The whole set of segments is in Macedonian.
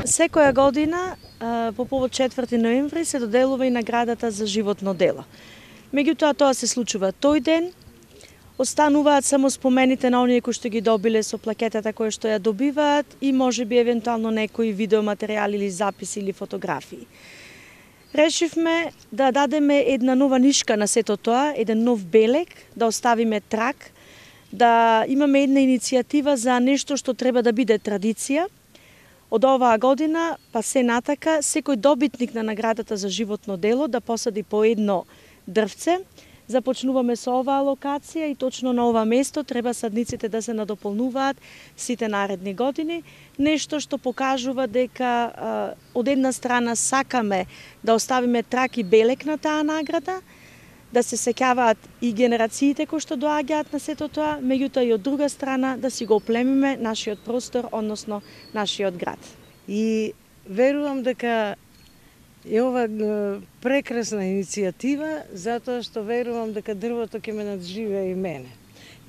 Секоја година по повод 4 ноември се доделува и наградата за животно дело. Меѓутоа тоа се случува тој ден, остануваат само спомените на оние кои што ги добиле со плакетата кои што ја добиваат и можеби евентуално некои видеоматеријали или записи или фотографии. Решивме да дадеме една нова нишка на сето тоа, еден нов белег, да оставиме трак, да имаме една иницијатива за нешто што треба да биде традиција. Од оваа година, па се натака, секој добитник на наградата за животно дело да посади по едно дрвце. Започнуваме со оваа локација и точно на ова место треба садниците да се надополнуваат сите наредни години. Нешто што покажува дека од една страна сакаме да оставиме трак и белег на таа награда, да се сеќаваат и генерациите кои што доаѓаат на сето тоа, меѓутоа и од друга страна да си го оплемиме нашиот простор, односно нашиот град. И верувам дека е ова прекрасна иницијатива, затоа што верувам дека дрвото ќе ме надживее и мене.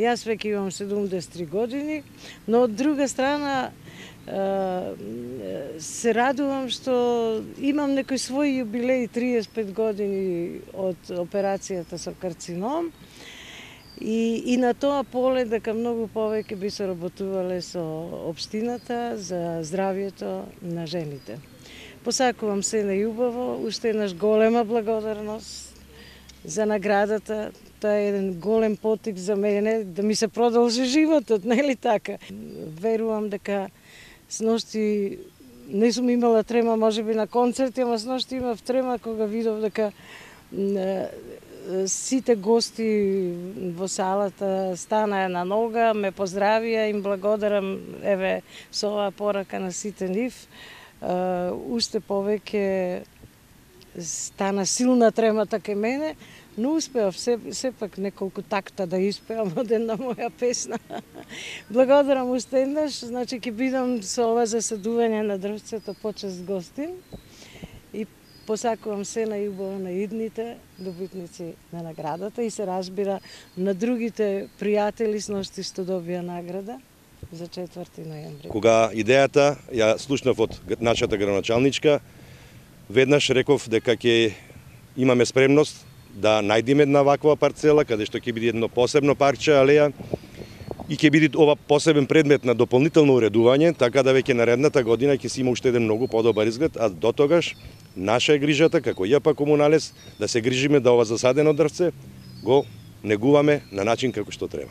Јас веќе имам 73 години, но од друга страна се радувам што имам некој свој јубилеј 35 години од операцијата со карцином и на тоа поле дека многу повеќе би се работувале со општината за здравјето на жените. Посакувам се најубаво, уште еднаш голема благодарност за наградата. Тоа е еден голем потик за мене да ми се продолжи животот, нели така? Верувам дека сношти не сум имала трема, можеби на концерти, ама сношти имав трема кога видов дека сите гости во салата станаа на нога, ме поздравија, им благодарам еве со оваа порака на сите нив. Уште повеќе стана силна тремата кај мене, но успеав сепак неколку такта да испеам од една моја песна. Благодарам уште еднаш, значи ќе бидам со ова засадување на дрвцето почест гостин и посакувам се најубаво на идните добитници на наградата и се разбира на другите пријатели сношти што добија награда за 4 ноември. Кога идејата ја слушнав од нашата градоначалничка, веднаш реков дека ќе имаме спремност да најдеме една ваква парцела, каде што ќе биде едно посебно парче, алеја, и ќе биде ова посебен предмет на дополнително уредување, така да веќе наредната година ќе си има уште еден многу подобар изглед, а до тогаш наша е грижата, како ЈП Комуналес, да се грижиме да ова засадено дрвце го негуваме на начин како што треба.